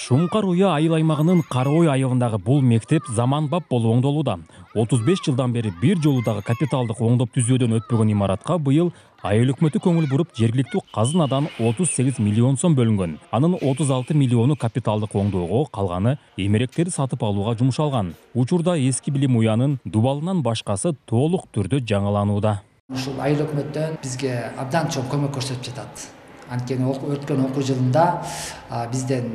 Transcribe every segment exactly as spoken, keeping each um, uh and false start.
Шумкар Уя айыл аймагынын Карой айылындагы бул мектеп заманбап болуп оңдолууда. отуз беш жылдан бери бир жолу дагы капиталдык оңдоп түзүүдөн өтпөгөн имаратка быйыл айыл өкмөтү көңүл буруп жергиликтүү казынадан отуз сегиз миллион сом бөлүнгөн. Анын отуз алты миллиону капиталдык оңдоого, калганы эмеректерди сатып алууга жумшалган. Учурда эски билим уянын дубалынан башкасы толук түрдө жаңыланууда. Ушул айыл өкмөттөн бизге абдан чоң көмөк көрсөтүп жатат. Анткени өткөн окуу жылында бизден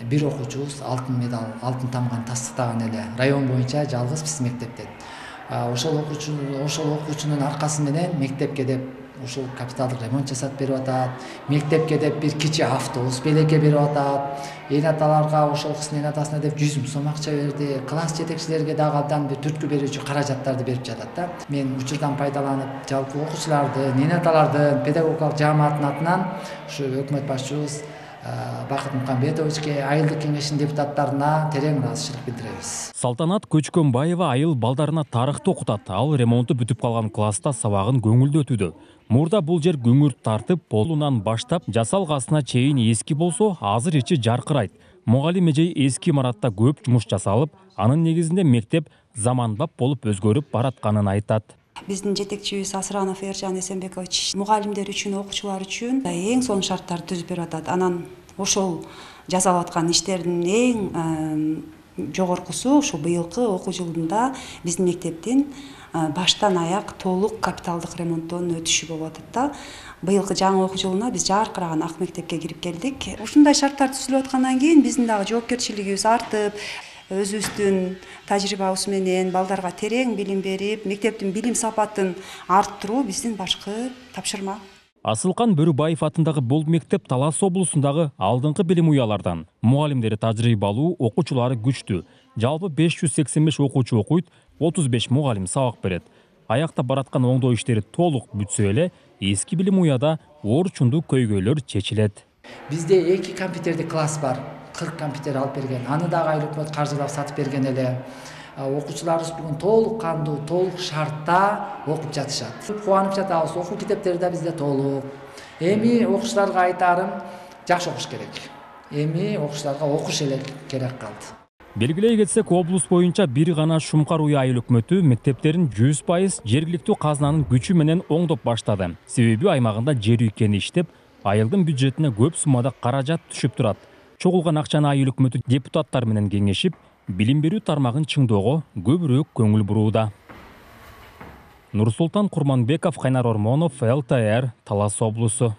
бир окуучубуз алтын медал, алтын тамганы тастыктаган эле. Район боюнча жалгыз биз мектептен. Ошол окуучу, ошол окуучунун аркасы менен мектепке деп ушул капиталдык ремонт жасап берип атат. Мектепке деп бир кичи автобус белекке берип атат. Эне аталарга ошол кыздын эне атасына деп жүз миң сом акча берди. Класс жетекчилерге дагы абдан бир түрткү берүүчү каражаттарды берип жатат да. Мен учурдан пайдаланып, жалпы окуучуларды, эне аталардын, педагогикалык жааматтын атынан ушу өкмөт башчыбыз Бакыт Мукамбетовичке, айылдык кеңештин депутаттарына терең ыраазычылык билдиребиз. Салтанат Көчкөнбаева айыл балдарына тарыхты окутат. Ал ремонту бүтүп калган класста сабагын көңүлдүү өтүүдө. Мурда бул жер күңүрт тартып, полунан баштап жасалгасына чейин эски болсо, азыр ичи жаркырайт. Мугалим эжей эски имаратта көп жумуш жасалып, анын негизинде мектеп заманбап болуп өзгөрүп баратканын айтат. Биздин жетекчибиз Асранов Эржан Эсенбекович мугалимдер үчүн, окуучулар үчүн эң сонун шарттарды түзүп берип атат. Анан ошол жасалып аткан иштердин эң жогоркусу ушул быйылкы окуу жылында биздин мектептин баштан аяк толук капиталдык ремонттон өтүшү болуп атат да. Быйылкы жаңы окуу жылына биз жаркыраган ак мектепке кирип келдик. Ушундай шарттар түзүлүп аткандан кийин биздин дагы жоопкерчилигибиз артып, өзүбүздүн тажрыйбабыз менен балдарга терең билим берип, мектептин билим сапатын арттыруу биздин башкы тапшырма. Асылкан Бөрүбаев атындагы бул мектеп Талас облусундагы алдыңкы билим уялардан. Мугалимдери тажрыйбалуу, окуучулары күчтүү. Жалпы беш жүз сексен беш окуучу окуйт, отуз беш мугалим сабак берет. Аякта бараткан оңдоо иштери толук бүтсө эле, эски билим уяда орчундуу көйгөйлөр чечилет. Бизде эки компьютердик класс бар. кырк компьютер алып берген. Аны дагы айыл өкмөт каржылап сатып берген эле. Окуучуларыбыз бүгүн толук кандуу, толук шартта окуп жатышат. Кубанып жатабыз, окуу китептери да бизде толук. Эми окуучуларга айтарым, жакшы окуш керек. Эми окуучуларга окуш эле керек калды. Белгилей кетсек, облус боюнча бир гана Шумкар Уя айыл өкмөтү мектептерин жүз пайыз жергиликтүү казынанын күчү менен оңдоп баштады. Себеби аймагында жер үйкени иштеп, айылдын бюджетине көп суммада каражат түшүп турат. Чогулган акчаны айыл өкмөтү депутаттар менен кеңешип, билим берүү тармагын чыңдоого көбүрөөк көңүл бурууда. Нурсултан Курманбеков, Кайнар Ормонов, эл тэ эр, Талас облусу.